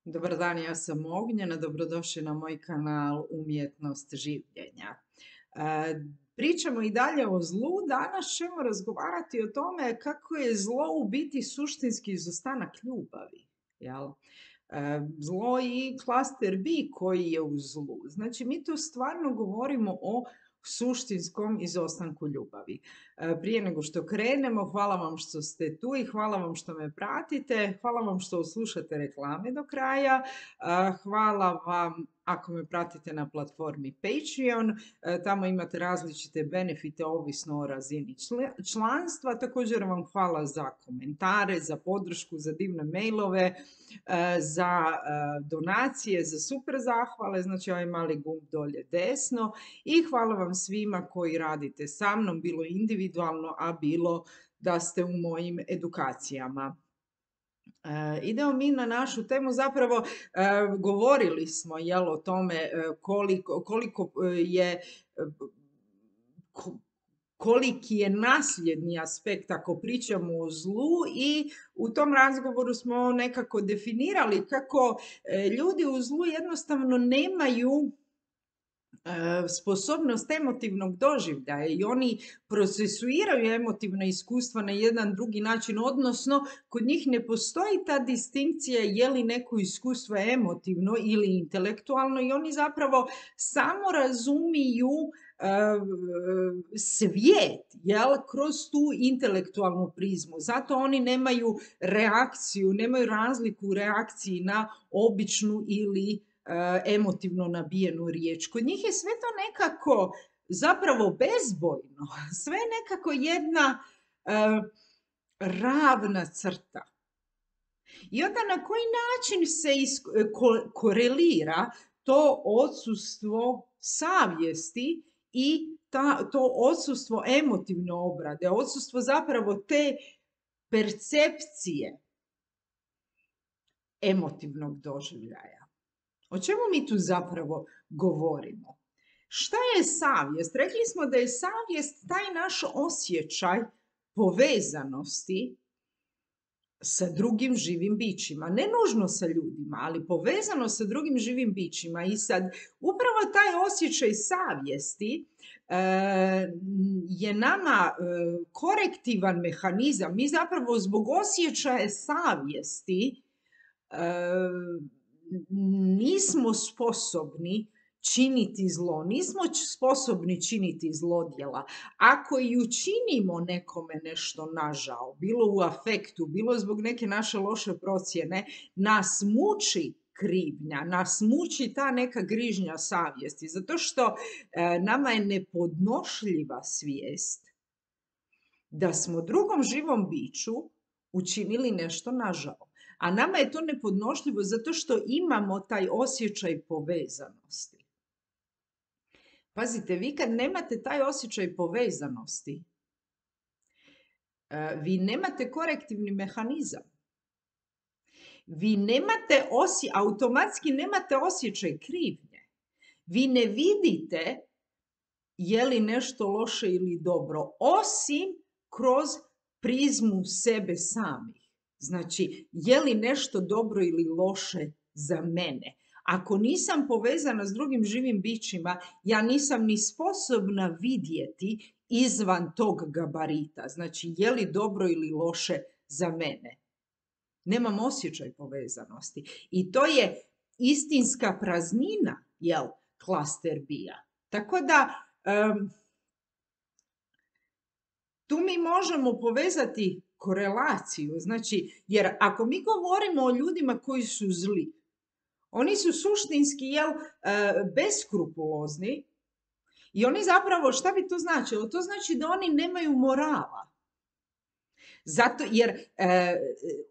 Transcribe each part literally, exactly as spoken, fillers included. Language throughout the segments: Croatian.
Dobar dan, ja sam Ognjena, dobrodošli na moj kanal Umjetnost življenja. E, pričamo i dalje o zlu, danas ćemo razgovarati o tome kako je zlo u biti suštinski izostanak ljubavi. Jel? E, zlo i klaster B koji je u zlu. Znači, mi tu stvarno govorimo o suštinskom izostanku ljubavi. E, prije nego što krenemo, hvala vam što ste tu i hvala vam što me pratite, hvala vam što slušate reklame do kraja, e, hvala vam ako me pratite na platformi Patreon, e, tamo imate različite benefite ovisno o razini članstva, također vam hvala za komentare, za podršku, za divne mailove, za donacije, za super zahvale, znači ovaj mali gumb dolje desno, i hvala vam svima koji radite sa mnom, bilo individualno, a bilo da ste u mojim edukacijama. E, idemo mi na našu temu, zapravo e, govorili smo jel, o tome e, koliko, koliko je e, ko, koliki je nasljedni aspekt ako pričamo o zlu, i u tom razgovoru smo nekako definirali kako e, ljudi u zlu jednostavno nemaju sposobnost emotivnog doživljaja i oni procesuiraju emotivna iskustva na jedan drugi način, odnosno kod njih ne postoji ta distinkcija je li neko iskustvo emotivno ili intelektualno, i oni zapravo samo razumiju svijet jel, kroz tu intelektualnu prizmu. Zato oni nemaju reakciju, nemaju razliku u reakciji na običnu ili emotivno nabijenu riječ. Kod njih je sve to nekako zapravo bezbojno, sve nekako jedna uh, ravna crta. I onda na koji način se ko korelira to odsustvo savjesti i ta, to odsustvo emotivne obrade, odsustvo zapravo te percepcije emotivnog doživljaja. O čemu mi tu zapravo govorimo? Šta je savjest? Rekli smo da je savjest taj naš osjećaj povezanosti sa drugim živim bićima. Ne nužno sa ljudima, ali povezano sa drugim živim bićima. I sad upravo taj osjećaj savjesti e, je nama e, korektivan mehanizam. Mi zapravo zbog osjećaja savjesti e, nismo sposobni činiti zlo, nismo sposobni činiti zlodjela. Ako i učinimo nekome nešto nažao, bilo u afektu, bilo zbog neke naše loše procjene, nas muči krivnja, nas muči ta neka grižnja savjesti, zato što e, nama je nepodnošljiva svijest da smo drugom živom biću učinili nešto nažao. A nama je to nepodnošljivo zato što imamo taj osjećaj povezanosti. Pazite, vi kad nemate taj osjećaj povezanosti, vi nemate korektivni mehanizam. Vi nemate osje, automatski nemate osjećaj krivnje. Vi ne vidite je li nešto loše ili dobro, osim kroz prizmu sebe samih. Znači, je li nešto dobro ili loše za mene? Ako nisam povezana s drugim živim bićima, ja nisam ni sposobna vidjeti izvan tog gabarita. Znači, je li dobro ili loše za mene? Nemam osjećaj povezanosti. I to je istinska praznina, jel, klaster B-a. Tako da, um, tu mi možemo povezati korelaciju, znači, jer ako mi govorimo o ljudima koji su zli, oni su suštinski jel, beskrupulozni i oni zapravo, šta bi to značilo? To znači da oni nemaju morala. Zato, jer e,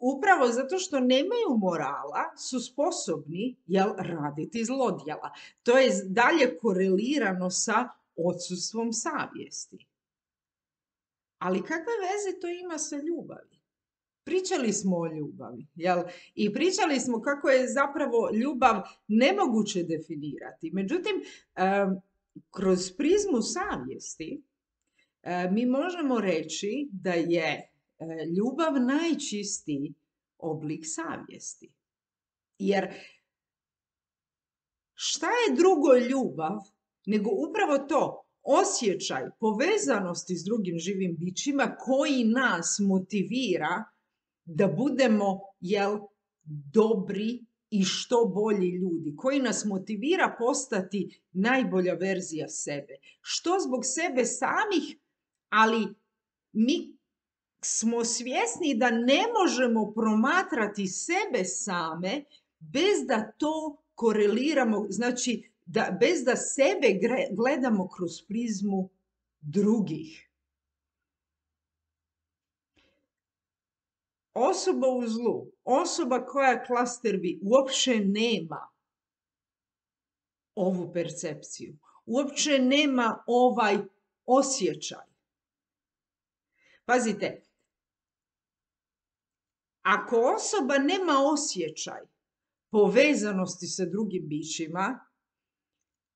upravo zato što nemaju morala su sposobni jel, raditi zlodjela. To je dalje korelirano sa odsustvom savjesti. Ali kakve veze to ima sa ljubavi? Pričali smo o ljubavi, jel? I pričali smo kako je zapravo ljubav nemoguće definirati. Međutim, kroz prizmu savjesti mi možemo reći da je ljubav najčistiji oblik savjesti. Jer šta je drugo ljubav nego upravo to, osjećaj povezanosti s drugim živim bićima koji nas motivira da budemo, jel, dobri i što bolji ljudi, koji nas motivira postati najbolja verzija sebe. Što zbog sebe samih, ali mi smo svjesni da ne možemo promatrati sebe same bez da to koreliramo, znači da, bez da sebe gledamo kroz prizmu drugih. Osoba u zlu, osoba koja klaster bi, uopće nema ovu percepciju, uopće nema ovaj osjećaj. Pazite, ako osoba nema osjećaj povezanosti sa drugim bićima,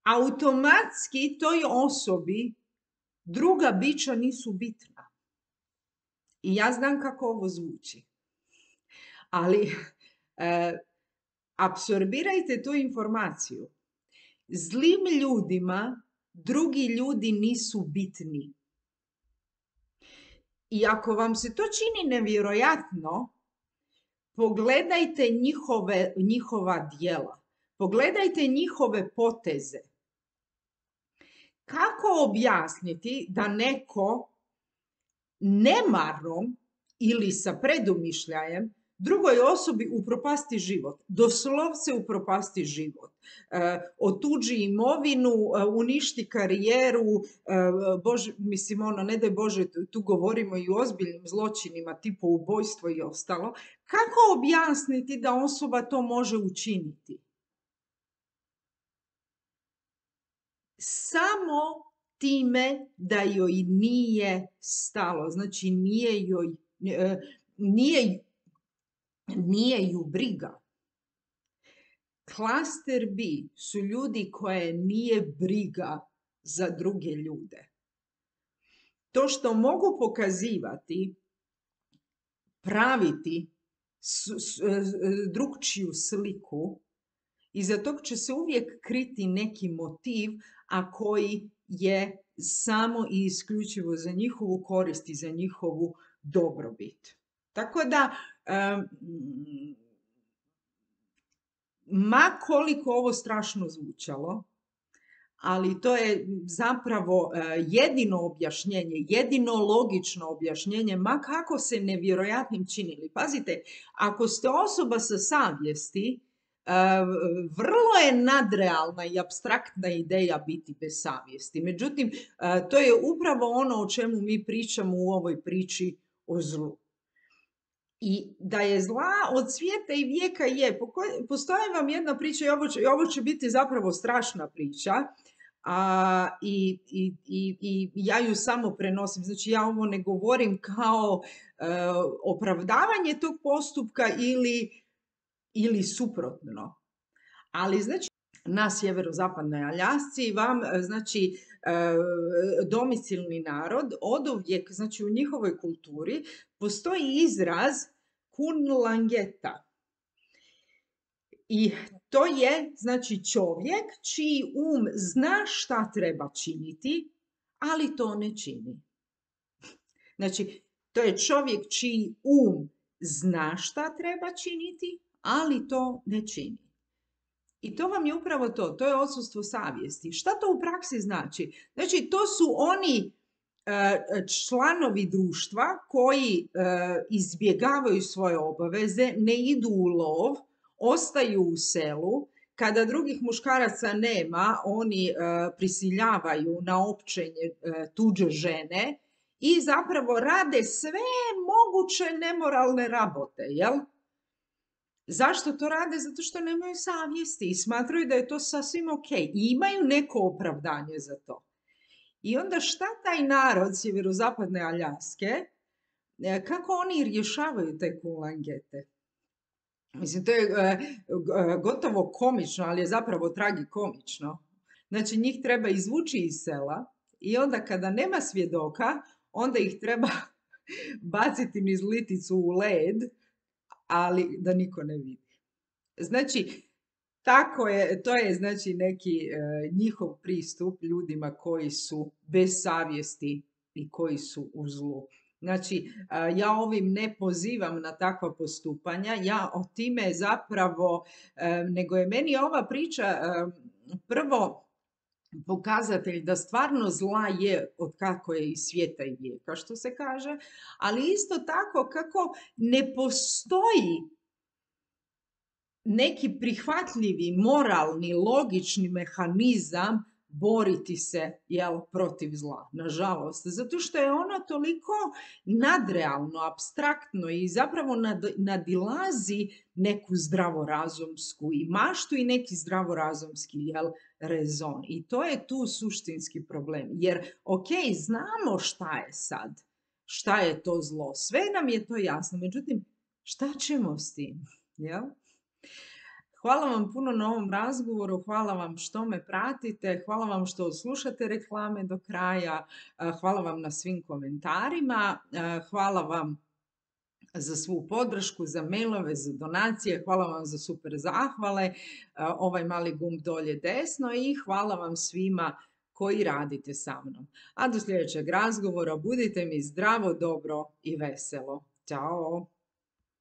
automatski toj osobi druga bića nisu bitna. I ja znam kako ovo zvuči. Ali e, apsorbirajte tu informaciju. Zlim ljudima drugi ljudi nisu bitni. I ako vam se to čini nevjerojatno, pogledajte njihove, njihova djela. Pogledajte njihove poteze. Kako objasniti da neko nemarom ili sa predumišljajem drugoj osobi upropasti život, doslovce upropasti život, e, otuđi imovinu, e, uništi karijeru, e, Bože, mislim, ono, ne daj Bože, tu govorimo i o ozbiljnim zločinima, tipu ubojstvo i ostalo. Kako objasniti da osoba to može učiniti? Samo time da joj nije stalo, znači nije joj, e, nije Nije ju briga. Klaster B su ljudi koje nije briga za druge ljude. To što mogu pokazivati, praviti drugčiju sliku, iza tog će se uvijek kriti neki motiv, a koji je samo i isključivo za njihovu korist i za njihovu dobrobit. Tako da, um, ma koliko ovo strašno zvučalo, ali to je zapravo uh, jedino objašnjenje, jedino logično objašnjenje, ma kako se nevjerojatnim činili. Pazite, ako ste osoba sa savjesti, uh, vrlo je nadrealna i apstraktna ideja biti bez savjesti. Međutim, uh, to je upravo ono o čemu mi pričamo u ovoj priči o zlu. I da je zla od svijeta i vijeka je. Postoji vam jedna priča i ovo će, ovo će biti zapravo strašna priča. A, i, i, i, i ja ju samo prenosim. Znači ja ovo ne govorim kao e, opravdavanje tog postupka ili, ili suprotno. Ali znači na sjeverozapadnoj Aljasci vam, znači, e, domicilni narod oduvijek, znači u njihovoj kulturi postoji izraz kunlangeta. I to je, znači, čovjek čiji um zna šta treba činiti, ali to ne čini. Znači, to je čovjek čiji um zna šta treba činiti, ali to ne čini. I to vam je upravo to, to je odsustvo savjesti. Šta to u praksi znači? Znači, to su oni članovi društva koji izbjegavaju svoje obaveze, ne idu u lov, ostaju u selu. Kada drugih muškaraca nema, oni prisiljavaju na općenje tuđe žene i zapravo rade sve moguće nemoralne rabote, jel? Zašto to rade? Zato što nemaju savjesti i smatraju da je to sasvim ok. I imaju neko opravdanje za to. I onda šta taj narod sjeverozapadne Aljaske, kako oni rješavaju te kunlangete? Mislim, to je gotovo komično, ali je zapravo tragikomično. Znači, njih treba izvući iz sela i onda kada nema svjedoka, onda ih treba baciti niz liticu u led, ali da niko ne vidi. Znači, tako je, to je znači neki e, njihov pristup ljudima koji su bez savjesti i koji su u zlu. Znači, e, ja ovim ne pozivam na takva postupanja, ja o time zapravo, e, nego je meni ova priča e, prvo pokazatelj da stvarno zla je od kako je iz svijeta i vijeka, što se kaže, ali isto tako kako ne postoji neki prihvatljivi, moralni, logični mehanizam boriti se, jel, protiv zla, nažalost. Zato što je ono toliko nadrealno, apstraktno i zapravo nad, nadilazi neku zdravorazumsku i maštu i neki zdravorazumski, jel, rezon. I to je tu suštinski problem. Jer, ok, znamo šta je sad, šta je to zlo, sve nam je to jasno, međutim, šta ćemo s tim, jel? Hvala vam puno na ovom razgovoru, hvala vam što me pratite, hvala vam što slušate reklame do kraja, hvala vam na svim komentarima, hvala vam za svu podršku, za mailove, za donacije, hvala vam za super zahvale, ovaj mali gumb dolje desno i hvala vam svima koji radite sa mnom. A do sljedećeg razgovora budite mi zdravo, dobro i veselo. Ćao!